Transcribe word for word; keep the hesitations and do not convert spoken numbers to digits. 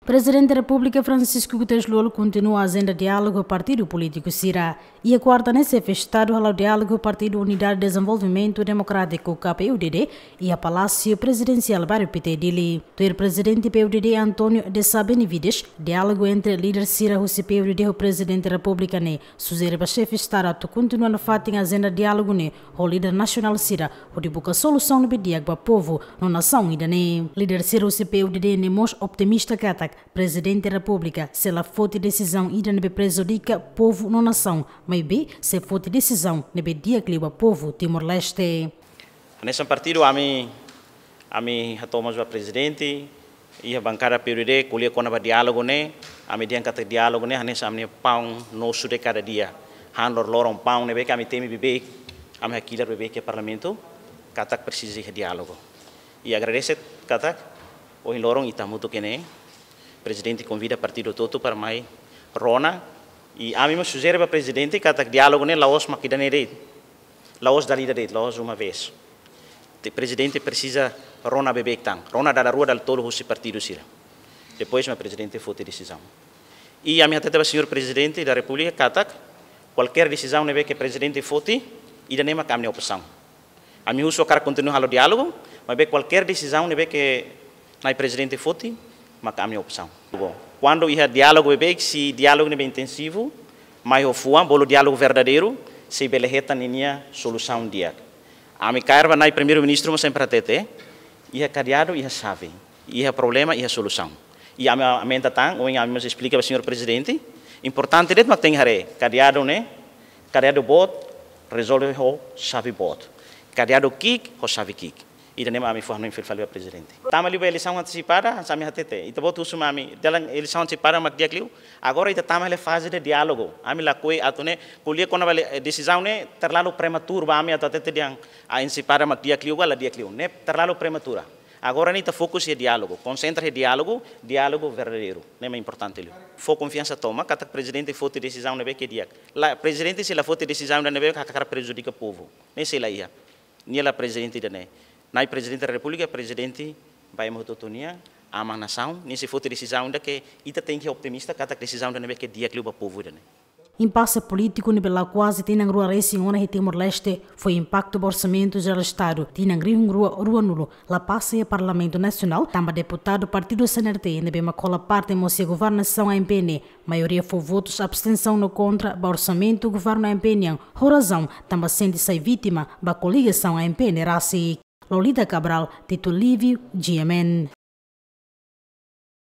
Prezidente Repúblika Francisco Guterres Lú Olo kontinua ajenda diálogu partidu polítiku sira. Iha kuarta ne'e, Xefe Estadu hala'o diálogu Partidu Unidade Dezenvolvimentu Demokrátiku, K P U D D, iha Palásiu Prezidensiál Bairru Pité, Dili. Tuir Prezidente P U D D, António Deza Benavides, diálogu entre líder sira husi P U D D ho Prezidente Repúblika ne'e sujere ba Xefe Estadu atu kontinua nafatin ajenda diálogu ne'e ho líder nasionál sira, hodi buka solusaun ne'ebé di'ak ba povu no nasaun ida-ne'e. Líder sira husi P U D D ne'e mós optimista katak Prezidente Repúblika sei la foti desizaun ida ne'ebé prejudika povu no nasaun, maibé sei foti desizaun ne'ebé di'ak liu ba povu Timor-Leste. Hanesan partidu ami, ami hato'o mós ba Prezidente, iha bankada P U D D ko'alia kona-ba diálogu ne'e, ami dehan katak diálogu ne'e hanesan ami-nia paun nosu de kada dia. Han loroloron paun ne'ebé ke ami temi beibeik, ami hakilar beibeik iha Parlamentu, katak presiza iha diálogu. I agradese katak ohin loron ita hamutuk iha ne'e, Prezidente konvida partidu hotu-hotu para mai rona, i ami mós sujere ba Prezidente katak diálogu ne'e la'ós mak ida-ne'e de'it. La'ós dala ida de'it, la'ós uma vez. Te-, Prezidente presiza rona beibeik tan, rona dala rua dala tolu husi partidu sira. Depois mak Prezidente foti desizaun. I ami hatete ba Señór Prezidente da Repúblika katak kualkér desizaun ne'ebé ke Prezidente foti, ida-ne'e mak ami-nia opsaun. Ami husu hakarak kontinua halo diálogu, maibé kualkér desizaun ne'ebé ke Na'i Prezidente foti, mak ami-nia opsaun. Bom, kuandu iha diálogu beibeik, se diálogu ne'ebé intensivu, mai ho fuan, bolu diálogu verdadeiru, sei bele hetan ninia solusaun di'ak. Ami kaer ba Na'i Primeiru-Ministru mós sempre hatete, iha kadeadu iha xave, iha problema iha solusaun. I ami aumenta tan, ohin ami mós esplika ba Señór Prezidente, importante de'it mak tenke haree, kadeadu ne'e, kadeadu boot, rezolve ho xave boot. Kadeadu ki'ik, ho xave ki'ik. Ida-ne'e mak ami fó hanoin fila fali ba Prezidente. Tama liu ba eleisaun antesipada, hanesan ami hatete. Ita-boot husu mai ami, dalan eleisaun antesipada mak di'ak liu. Agora ita tama iha faze de diálogu. Ami lakohi atu ne'e, ko'alia kona-ba le-, eh, desizaun ne'e terlalu prematuru ba ami atu hatete dehan, ah, antesipada mak di'ak liu ka la di'ak liu. Ne'e terlalu prematura. Agora ne'e ita fokus iha diálogu, konsentra iha diálogu, diálogu verdadeiru. Ne'e mak importante liu. Fó konfiansa tomak, katak Prezidente foti desizaun ne'ebé ke di'ak. La, Prezidente sei la foti desizaun ida ne'ebé ke hakarak prejudika povu. Ne'e sei la iha. Nia la Prezidente ida-ne'e. Na'i Prezidente da Repúblika, Prezidente ba ema hotu-hotu nian, aman nasaun, nia sei foti desizaun ida ke ita tenke optimista, katak desizaun ida ne'ebé ke di'ak liu ba povu ida-ne'e. Impase polítiku ne'ebé la'o kuaze tinan rua resin ona iha Timor-Leste fó impaktu ba Orsamentu Jerál Estadu tinan rihun rua ruanulu la pasa iha Parlamentu Nasionál, tanba deputadu partidu C N R T ne'ebé mak hola parte mós iha governasaun A M P ne'e, maioria fó votus abstensaun no kontra ba orsamentu governu A M P nian, ho razaun tanba sente sai vítima ba koligasaun A M P ne'e rasik. Lolita Cabral, Tito Livio, G M N.